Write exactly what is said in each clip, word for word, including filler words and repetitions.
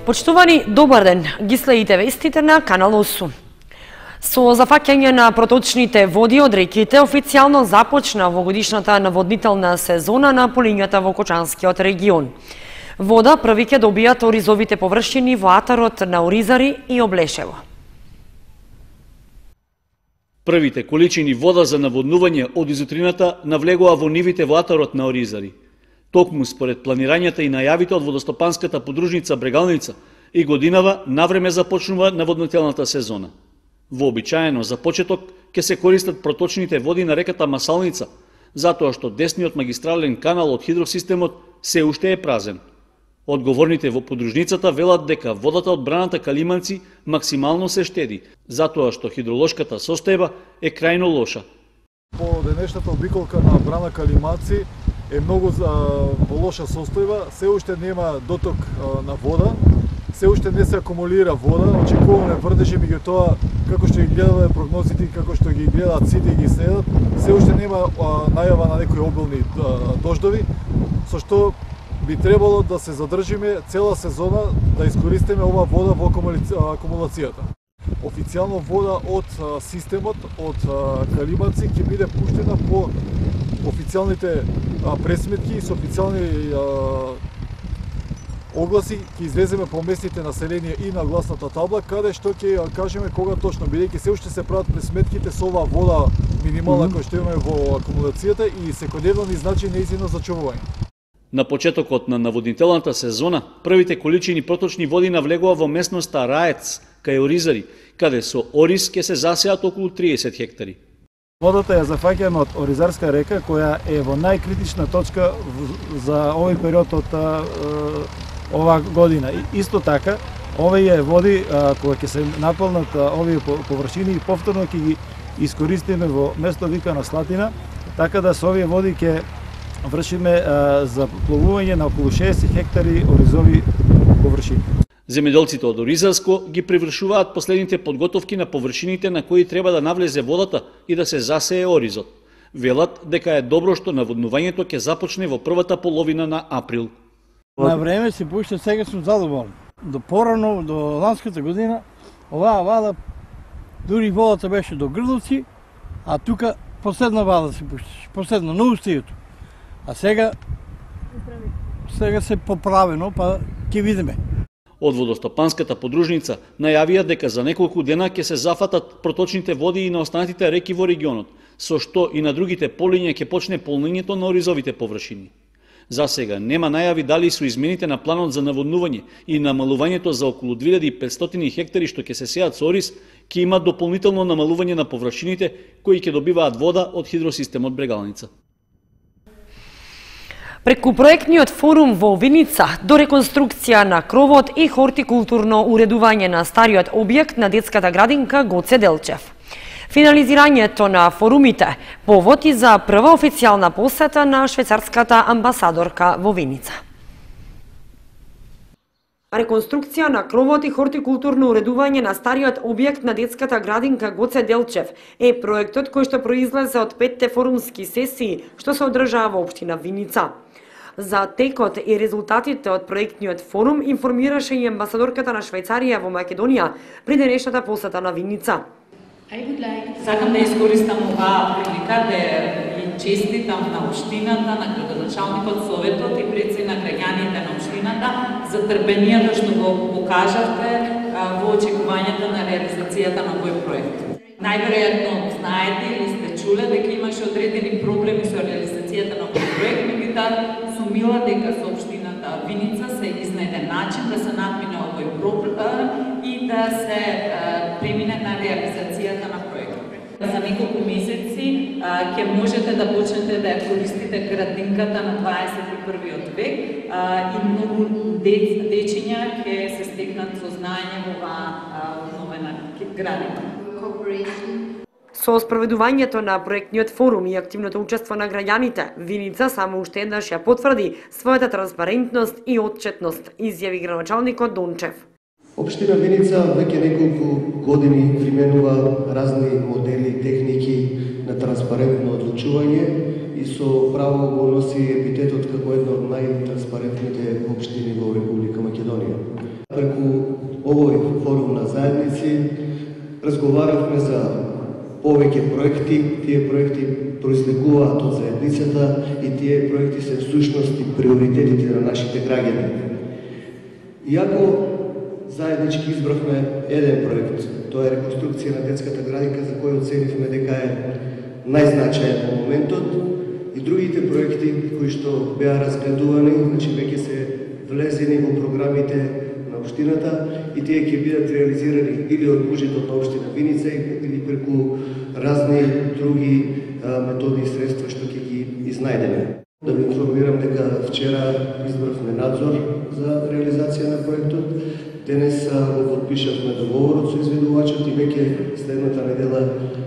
Почитувани, добар ден, ги следите вестите на Канал осум. Со зафаќање на проточните води од реките, официјално започна овогодишната наводнителна сезона на полињата во Кочанскиот регион. Вода први ќе добијат оризовите површини во атарот на Оризари и Облешево. Првите количини вода за наводнување од изутрината навлегоа во нивите во атарот на Оризари. Токму според планирањата и најавите од водостопанската подружница Брегалница, и годинава навреме започнува наводнителната сезона. Вообичаено за почеток ќе се користат проточните води на реката Масалница, затоа што десниот магистрален канал од хидросистемот се уште е празен. Одговорните во подружницата велат дека водата од браната Калиманци максимално се штеди, затоа што хидролошката состојба е крајно лоша. По денешната обиколка на брана Калиманци е многу во лоша состојба, се уште нема доток на вода, се уште не се акумулира вода, очекуваме врдежи, меѓутоа како што ги гледаме прогнозите и како што ги гледаат сите и ги следат, се уште нема најава на некои обилни дождови, со што би требало да се задржиме цела сезона да искористиме ова вода во акумулацијата. Официјално вода од системот од Калиманци ќе биде пуштена по официјалните пресметки и со официјални огласи ќе излеземе по местните население и на гласната табла, каде што ќе кажеме кога точно, бидејќи се уште се прават пресметките со оваа вода минимална која што имаме во акумулацијата и секојдневно ни значи нејзино зачувување. На почетокот на наводнителната сезона, првите количини проточни води навлегува во местноста Раец, кај Оризари, каде со ориз ќе се засеат околу триесет хектари. Водата ја зафаќаме од Оризарска река, која е во најкритична точка за овој период од оваа година. И исто така, овие води, кога ќе се наполнат овие површини и повторно ќе ги искористиме во место вика на Слатина, така да со овие води ќе вршиме за пловување на околу шеесет хектари оризови површини. Земјоделците од Оризарско ги привршуваат последните подготовки на површините на кои треба да навлезе водата и да се засее оризот. Велат дека е добро што наводнувањето ќе започне во првата половина на април. На време се пушта, сега сум задоволен. До порано, до ланската година, оваа вада, дури водата беше до грловци, а тука последна вада се пушташе, последна, на устијето. А сега, сега се поправено, па ќе видиме. Од водостопанската подружница најавија дека за неколку дена ќе се зафатат проточните води и на останатите реки во регионот, со што и на другите полиња ќе почне полнењето на оризовите површини. За сега нема најави дали со измените на планот за наводнување и намалувањето за околу две илјади и петстотини хектари што ќе се сеат со ориз, ќе има дополнително намалување на површините кои ќе добиваат вода од хидросистемот Брегалница. Преку проектниот форум во Виница до реконструкција на кровот и хортикултурно уредување на стариот објект на детската градинка Гоце Делчев. Финализирањето на форумите повод и за прва официјална посета на швајцарската амбасадорка во Виница. Реконструкција на кровот и хортикултурно уредување на стариот објект на детската градинка Гоце Делчев е проектот кој што произлезе од петте форумски сесии што се одржаа во општина Виница. За текот и резултатите од проектниот форум информираше и амбасадорката на Швајцарија во Македонија при денешната посета на Виница. Сакам да искористам оваа прилика да ја честитам на општината, на градоначалникот, советот и предси на граѓаните на општината за трпението што го покажавте во очекувањето на реализацијата на овој проект. Најверојатно знаете или сте чуле дека имаше одредени проблеми со реализацијата на овој проект, меѓутоа сумила дека со општината Виница се изнајде начин да се надмине овој проблем и да се премине на реализацијата на проектот. За неколку месеци ќе можете да почнете да ја користите градинката на дваесет и првиот век и многу дечиња ќе се стекнат со знаење во оваа обновена градинка. Со спроведувањето на проектниот форум и активното учество на граѓаните, Виница само уште еднаш ја потврди својата транспарентност и отчетност, изјави градоначалникот Дончев. Општина Виница веќе неколку години применува разни модели и техники на транспарентно одлучување и со право го носи епитетот како една од најтранспарентните општини во Република Македонија. Преку Разговаравме за повеќе проекти, тие проекти произлегуваат од заедницата и тие проекти се всушност и приоритетите на нашите граѓани. Иако заеднички избравме еден проект, тоа е реконструкција на детската градинка, за која оценивме дека е најзначаен во моментот, и другите проекти кои што беа разгледувани, значи веќе се влезени во програмите на општината и тие ќе бидат реализирани или од буџетот на општина Виница или преку разни други а, методи и средства што ќе ги изнајдеме. Да ви информирам дека вчера избравме надзор за реализација на проектот. Денес го подпишавме договорот со изведувачот и веќе следната недела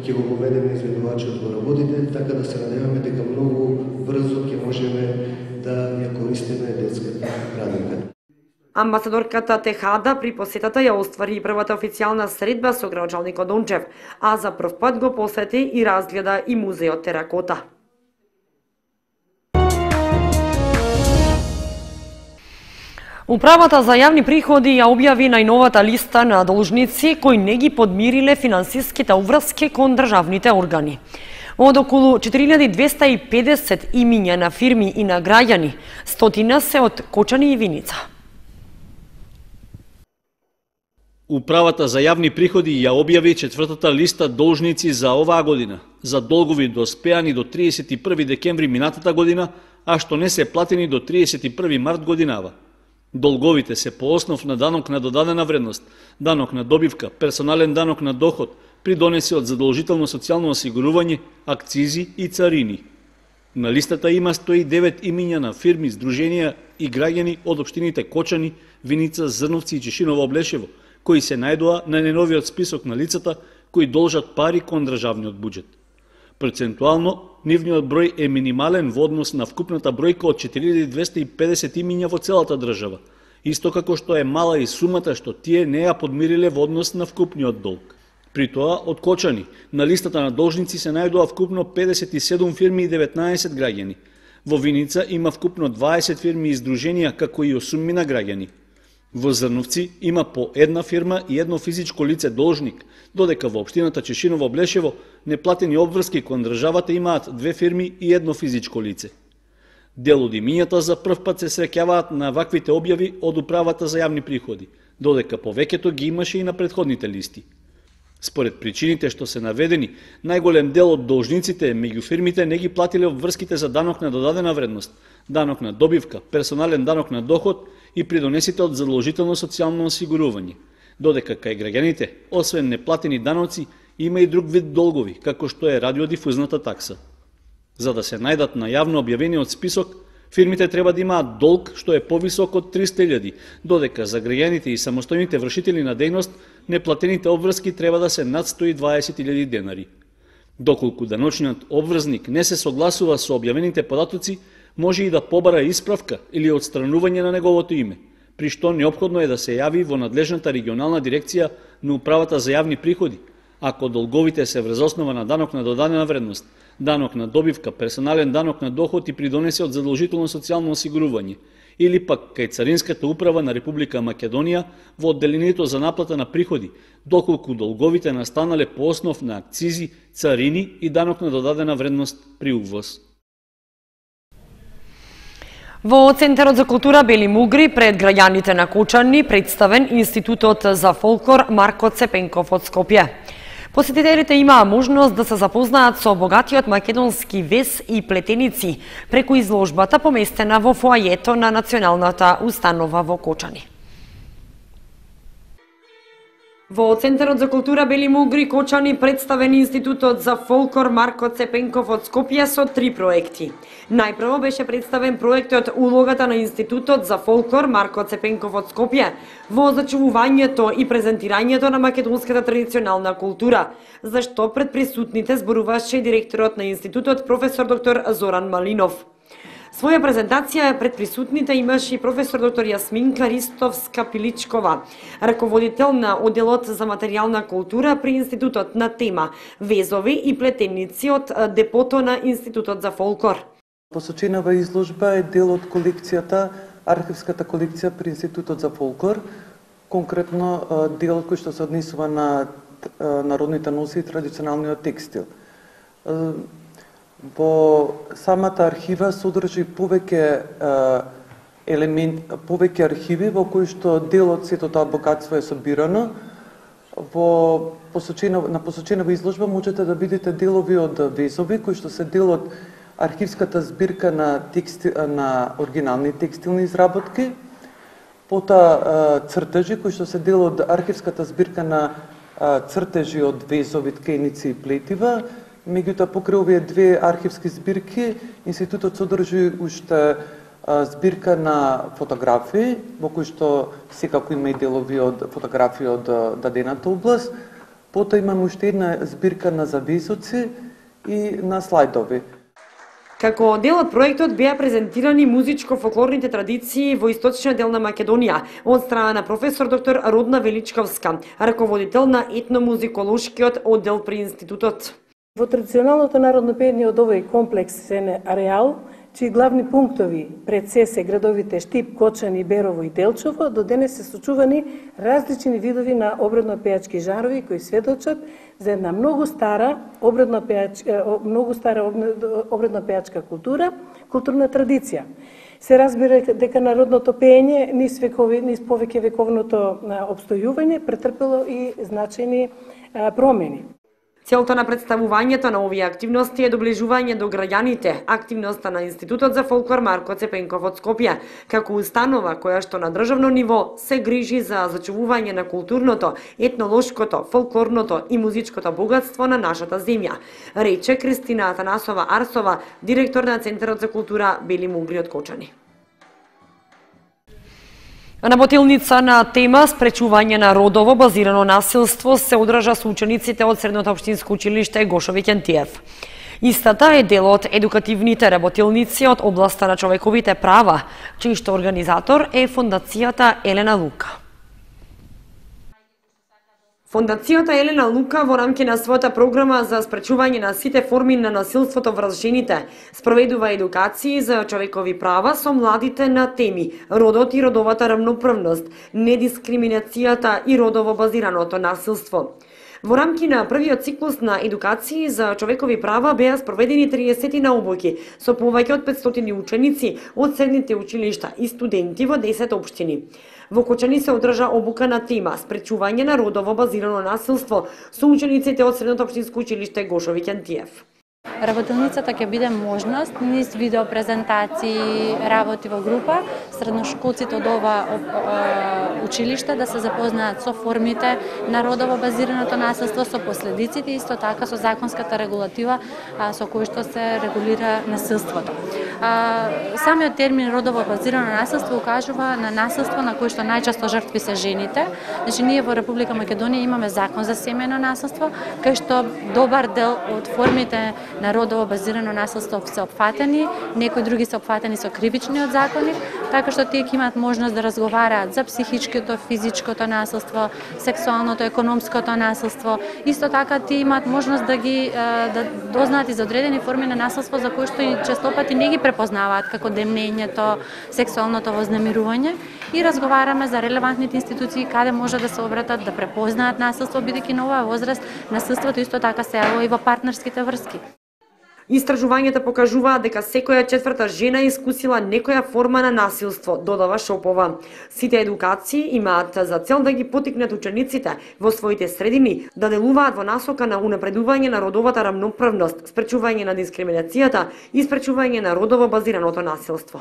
ќе го поведеме изведувачот во работите, така да се надеваме дека многу брзо ќе можеме да ја користиме детската градинка. Амбасадорката Техада при посетата ја оствари и првата официјална средба со градоначалникот Дончев, а за прв пат го посети и разгледа и музеот Теракота. Управата за јавни приходи ја објави најновата листа на должници кои не ги подмириле финансиските уврски кон државните органи. Од околу четири илјади двесте и педесет имиња на фирми и на граѓани, стотина се од Кочани и Виница. Управата за јавни приходи ја објави четвртата листа должници за оваа година, за долгови доспеани до триесет и први декември минатата година, а што не се платени до триесет и први март годинава. Долговите се по основ на данок на додадена вредност, данок на добивка, персонален данок на доход, придонеси од задолжително социјално осигурување, акцизи и царини. На листата има сто и девет имиња на фирми, здруженија и граѓани од општините Кочани, Виница, Зрновци и Чешиново Облешево, кои се најдоа на најновиот список на лицата кои должат пари кон државниот буџет. Процентуално, нивниот број е минимален во однос на вкупната бројка од четири илјади двесте и педесет имиња во целата држава, исто како што е мала и сумата што тие не ја подмириле во однос на вкупниот долг. При тоа, од Кочани, на листата на должници се најдоа вкупно педесет и седум фирми и деветнаесет граѓани. Во Виница има вкупно дваесет фирми и здруженија, како и осумина граѓани. Во Зрновци има по една фирма и едно физичко лице должник, додека во општината Чешиново Облешево неплатени обврски кон државата имаат две фирми и едно физичко лице. Дел од имињата за прв пат се среќаваат на ваквите објави од управата за јавни приходи, додека повеќето ги имаше и на претходните листи. Според причините што се наведени, најголем дел од должниците меѓу фирмите не ги платиле обврските за данок на додадена вредност, данок на добивка, персонален данок на доход и придонесите од задолжително социјално осигурување, додека кај граѓаните, освен неплатени даноци, има и друг вид долгови, како што е радиодифузната такса. За да се најдат на јавно објавениот список, фирмите треба да имаат долг што е повисок од триста илјади, додека за граѓаните и самостојните вршители на дејност неплатените обврски треба да се над сто и дваесет илјади денари. Доколку даночниот обврзник не се согласува со објавените податоци, може и да побара исправка или отстранување на неговото име, при што неопходно е да се јави во надлежната регионална дирекција на управата за јавни приходи, ако долговите се врз основа на данок на додадена вредност, данок на добивка, персонален данок на доход и придонеси од задолжително социјално осигурување, или пак кај Царинската управа на Република Македонија во одделението за наплата на приходи, доколку долговите настанале по основ на акцизи, царини и данок на додадена вредност при увоз. Во Центарот за култура Бели Мугри пред граѓаните на Кочани представен Институтот за фолклор Марко Цепенков од Скопје. Посетителите имаа можност да се запознаат со богатиот македонски вез и плетеници преку изложбата поместена во фоајето на Националната установа во Кочани. Во Центарот за култура Бели Мугри Кочани представен Институтот за фолклор Марко Цепенков од Скопје со три проекти. Најпрво беше представен проектот Улогата на Институтот за фолклор Марко Цепенков од Скопје во зачувувањето и презентирањето на македонската традиционална култура, за што пред присутните зборуваше директорот на институтот професор доктор Зоран Малинов. Своја презентација пред присутните имаше и професор доктор Јасминка Ристовска-Пиличкова, раководител на одделот за материјална култура при Институтот на тема Везови и плетеници од депото на Институтот за фолклор. Посоченава изложба е дел од колекцијата, архивската колекција при Институтот за фолклор, конкретно дел кој што се однесува на народните носи и традиционалниот текстил. Во самата архива содржи повеќе елемент, повеќе архиви во кои што дел од сето тоа богатство е собирано. Во посочена, на посоченава изложба можете да видите делови од везови кои што се дел од архивската збирка на, тексти, на оригинални текстилни изработки, потоа цртежи кои што се дел од архивската збирка на цртежи од везови, ткеници и плетива. Меѓутоа, покрај овие две архивски збирки, институтот содржи уште збирка на фотографии, во кои што секако има и делови од фотографии од дадената област. Потоа имаме уште една збирка на завесоци и на слайдови. Како дел од проектот беа презентирани музичко-фолклорните традиции во источниот дел на Македонија од страна на професор доктор Родна Величковска, раководител на етномузиколошкиот оддел при институтот. Во традиционалното народно пеење од овој комплексен ареал, чии главни пунктови пред се се градовите Штип, Кочани, Берово и Делчово, до денес се сочувани различни видови на обредно-пејачки жанрови кои сведочат за една многу стара обредно-пејачка, многу стара обредно-пејачка култура, културна традиција. Се разбира дека народното пеење низ векови, низ повеќе вековното опстојување претрпело и значајни промени. Целта на представувањето на овие активности е доближување до граѓаните, активноста на Институтот за фолклор Марко Цепенков од Скопје, како установа која што на државно ниво се грижи за зачувување на културното, етнолошкото, фолклорното и музичкото богатство на нашата земја, рече Кристина Атанасова Арсова, директор на Центарот за култура Бели Мугри од Кочани. Работилница на тема спречување на родово базирано насилство се одржа со учениците од Средното општинско училиште Гошо Викентиев. Истата е дел од едукативните работилници од областа на човековите права, чиј што организатор е Фондацијата Елена Лука. Фондацијата Елена Лука во рамки на својата програма за спречување на сите форми на насилството врз жените спроведува едукации за човекови права со младите на теми родот и родовата рамноправност, недискриминацијата и родово базираното насилство. Во рамки на првиот циклус на едукации за човекови права беа спроведени триесет наобуки со повеќе од петстотини ученици од средните училишта и студенти во десет општини. Во Кочани се одржа обука на тема спречување на родово базирано насилство со учениците од Средното општинско училиште Гошо Викентиев. Работилницата ќе биде можност низ видео презентации, работи во група, средношколците од ова училиште да се запознаат со формите на родово базираното насилство, со последиците, исто така со законската регулатива со кој што се регулира насилството. Самиот термин родово базирано насилство укажува на насилство на кој што најчесто жртви се жените. Значи, ние во Република Македонија имаме закон за семејно насилство, кај што добар дел од формите на родово базирано насилство се опфатени, некои други се опфатени со кривичниот закони, така што тие ќе имаат можност да разговараат за психичкото, физичкото насилство, сексуалното, економското насилство. Исто така тие имаат можност да ги да дознаат и за одредени форми на насилство за кои што и честопати не ги препознаваат, како демнењето, сексуалното вознемирување, и разговараме за релевантните институции каде може да се обратат, да препознаат насилство, бидејќи на оваа возраст насилството исто така се јавува и во партнерските врски. Истражувањата покажуваат дека секоја четврта жена искусила некоја форма на насилство, додава Шопова. Сите едукации имаат за цел да ги потикнат учениците во своите средини да делуваат во насока на унапредување на родовата рамноправност, спречување на дискриминацијата и спречување на родово базираното насилство.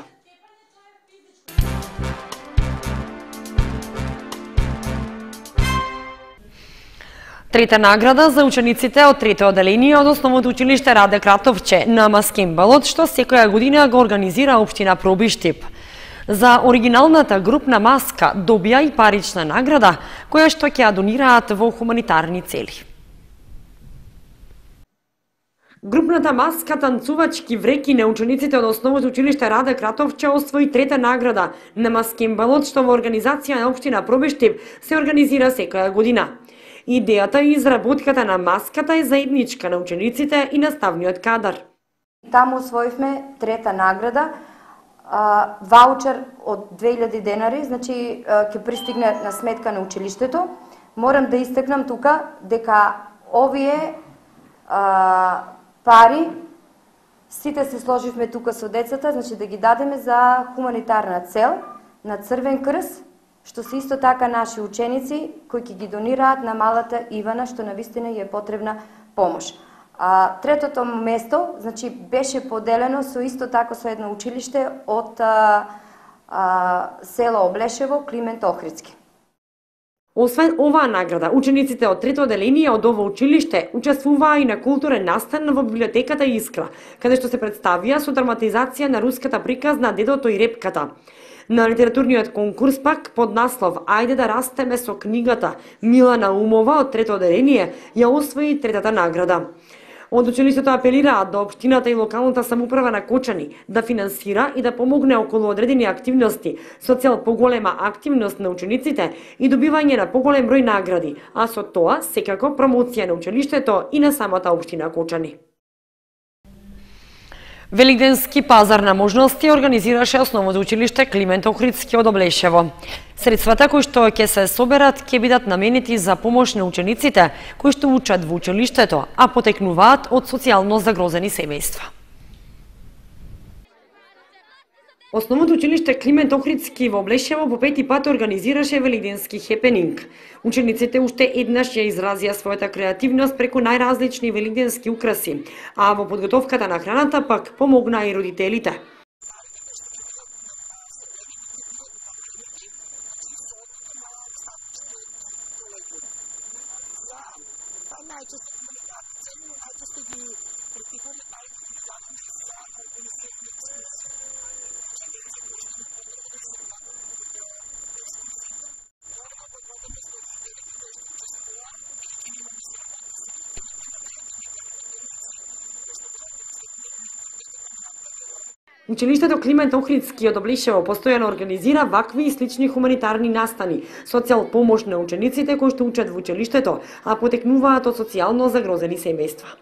Трета награда за учениците од трето оделение од Основното училиште Раде Кратовче на Маскембалот, што секоја година го организира општина Пробиштип. За оригиналната групна маска добија и парична награда, која што ќе ја донираат во хуманитарни цели. Групната маска танцувачки вреки на учениците од Основното училиште Раде Кратовче освои трета награда на Маскембалот, што во организација на општина Пробиштип се организира секоја година. Идејата и изработката на маската е заедничка на учениците и наставниот кадар. Таму освоивме трета награда, ваучер од две илјади денари, значи ќе пристигне на сметка на училиштето. морам да истакнам тука дека овие а, пари сите се сложивме тука со децата, значи да ги дадеме за хуманитарна цел на Црвен крст, што се исто така наши ученици кои ќе ги донираат на малата Ивана, што навистина ја е потребна помош. А, третото место, значи, беше поделено со исто така со едно училиште од а, а, село Облешево, Климент Охридски. Освен оваа награда, учениците од трето оделение од ова училиште учествуваа и на културен настан во библиотеката Искра, каде што се представија со драматизација на руската приказна Дедото и репката. На литературниот конкурс пак под наслов "Ајде да растеме со книгата", Милана Умова од трето оделение ја освои третата награда. Од училиштето апелираат до општината и локалната самоуправа на Кочани да финансира и да помогне околу одредени активности со цел поголема активност на учениците и добивање на поголем број награди, а со тоа секако промоција на училиштето и на самата општина Кочани. Великденски пазар на можности организираше основното училиште Климент Охридски од Облешево. Средствата кои што ќе се соберат ќе бидат наменети за помош на учениците кои што учат во училиштето, а потекнуваат од социјално загрозени семејства. Основното училиште Климент Охридски во Облешево по пети пат организираше великденски хепенинг. Учениците уште еднаш ја изразија својата креативност преку најразлични великденски украси, а во подготовката на храната пак помогнаа и родителите. Училиштето Климент Охридски од Облешево постојано организира вакви и слични хуманитарни настани со цел помош на учениците кои што учат во училиштето, а потекнуваат од социјално загрозени семејства.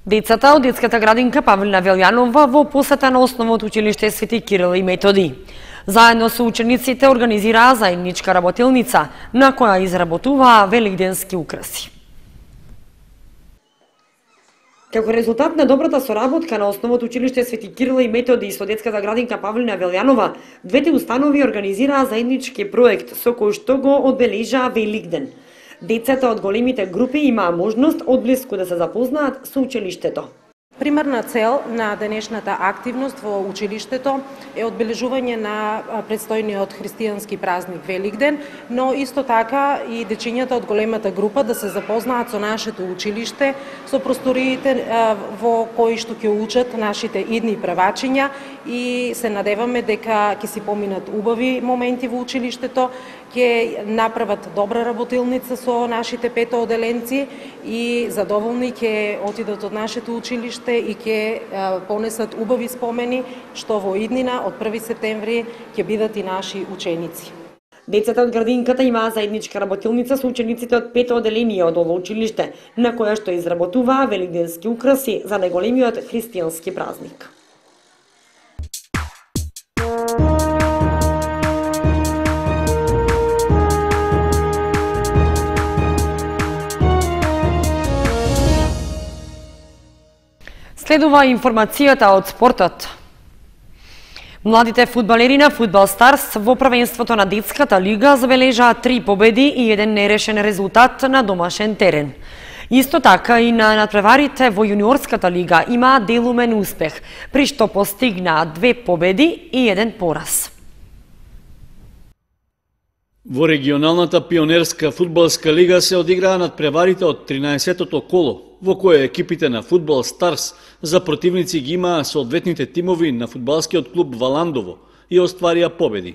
Децата од детската градинка Павлина Велјанова во посета на основното училиште Свети Кирил и Методи. Заедно со учениците организираа заедничка работилница на која изработуваа великденски украси. Како резултат на добрата соработка на основното училиште Свети Кирил и Методи со детската градинка Павлина Велјанова, двете установи организираа заеднички проект со кој што го одбележаа Великден. Децата од големите групи имаа можност одблиску да се запознаат со училиштето. Примерна цел на денешната активност во училиштето е одбележување на предстојниот христијански празник Великден, но исто така и дечињата од големата група да се запознаат со нашето училиште, со просториите во кои што ќе учат нашите идни превачиња и се надеваме дека ќе си поминат убави моменти во училиштето, ќе направат добра работилница со нашите пето оделенци и задоволни ќе отидат од нашето училиште и ќе понесат убави спомени што во иднина од први септември ќе бидат и наши ученици. Децата од градинката имаа заедничка работилница со учениците од пето оделение од ова училиште, на која што изработуваа великденски украси за најголемиот христијански празник. Следува информацијата од спортот. Младите фудбалери на Фудбал Старс во првенството на детската лига забележаа три победи и еден нерешен резултат на домашен терен. Исто така и на надпреварите во јуниорската лига имаа делумен успех, при што постигнаа две победи и еден пораз. Во регионалната пионерска фудбалска лига се одиграа надпреварите од тринаесеттото коло, во кое екипите на Фудбал Старс за противници ги имаа соодветните тимови на фудбалскиот клуб Валандово и остварија победи.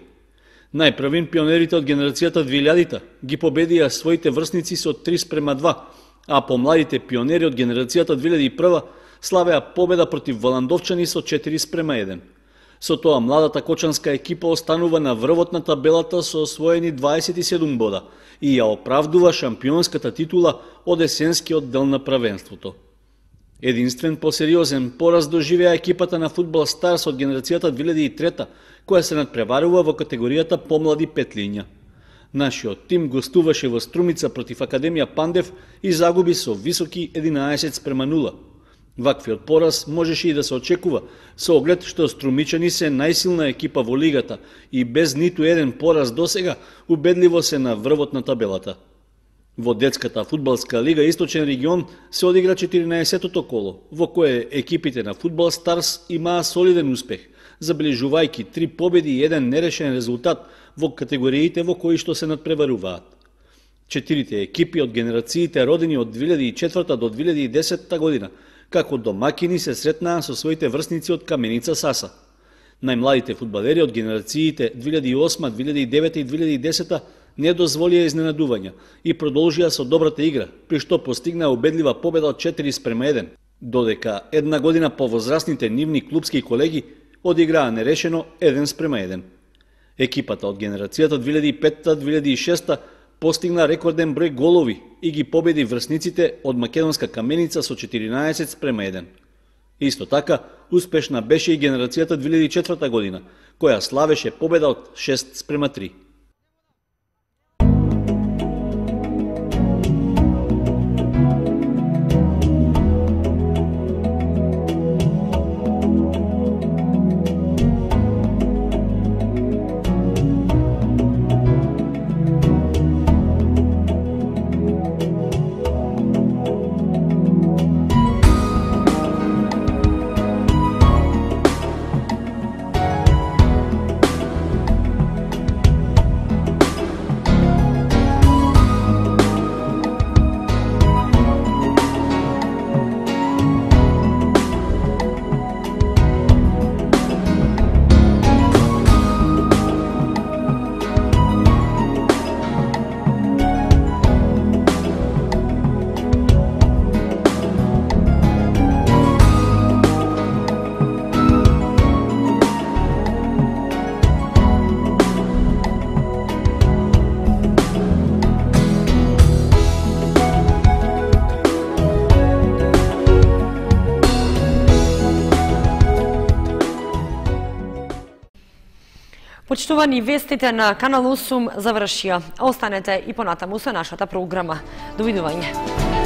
Најпрвин пионерите од генерацијата двилјадита ги победија своите врсници со три спрема два, а помладите пионери од генерацијата две илјади и прва славеа победа против Валандовчани со четири спрема еден. Со тоа младата кочанска екипа останува на врвот на табелата со освоени дваесет и седум бода и ја оправдува шампионската титула од есенскиот дел на правенството. Единствен посериозен пораз доживеа екипата на Фудбал Старс од генерацијата две илјади и трета, која се надпреварува во категоријата помлади петлиња. Нашиот тим гостуваше во Струмица против Академија Пандев и загуби со високи единаесет спрема нула. Ваквиот пораз можеше и да се очекува, со оглед што струмичани се најсилна екипа во лигата и без ниту еден пораз досега убедливо се на врвот на табелата. Во детската фудбалска лига Источен регион се одигра четиринаесеттото коло, во кое екипите на Фудбал Старс имаа солиден успех, забележувајќи три победи и еден нерешен резултат во категориите во кои што се надпреваруваат. Четирите екипи од генерациите родени од две илјади и четврта до две илјади и десета година, како домакини се сретнаа со своите врсници од Каменица Саса. Најмладите фудбалери од генерациите две илјади и осма, две илјади и девета и две илјади и десета не дозволија изненадувања и продолжија со добрата игра, при што постигнаа убедлива победа од четири спрема еден, додека една година повозрасните нивни клубски колеги одиграа нерешено еден спрема еден. Екипата од генерацијата две илјади и петта - две илјади и шеста постигна рекорден број голови и ги победи врсниците од Македонска Каменица со четиринаесет спрема еден. Исто така, успешна беше и генерацијата две илјади и четврта година, која славеше победа од шест спрема три. Почитувани, вестите на Канал осум завршија. Останете и понатаму со нашата програма. Довидување.